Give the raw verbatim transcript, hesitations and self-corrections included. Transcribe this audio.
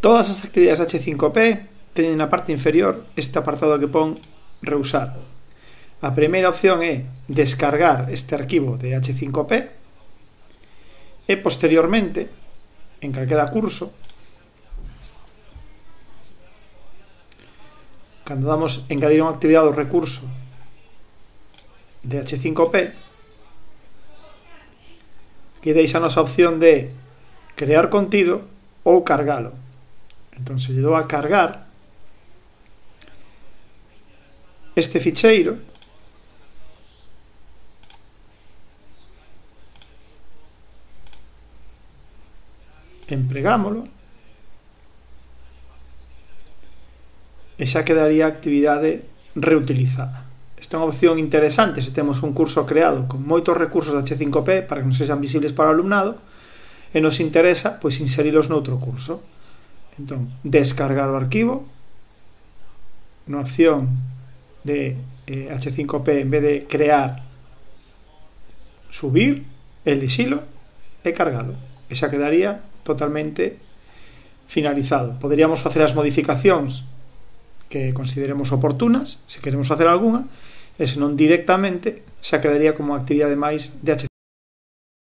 Todas as actividades H cinco P teñen na parte inferior este apartado que pon reusar. A primeira opción é descargar este arquivo de H cinco P e posteriormente, en calquera curso, cando damos engadir unha actividade ao recurso de H cinco P, que deixanos a opción de crear contido ou cargalo. Entón, se lle dou a cargar este ficheiro, empregámolo e xa quedaría a actividade reutilizada. Esta é unha opción interesante se temos un curso creado con moitos recursos de H cinco P para que non sexan visibles para o alumnado e nos interesa pois inserilos noutro curso. Entón, descargar o arquivo, na opción de eh, H cinco P, en vez de crear, subir, elixilo e cargalo. E xa quedaría totalmente finalizado. Poderíamos facer as modificacións que consideremos oportunas, se queremos facer algunha, e senón directamente xa quedaría como actividade máis de H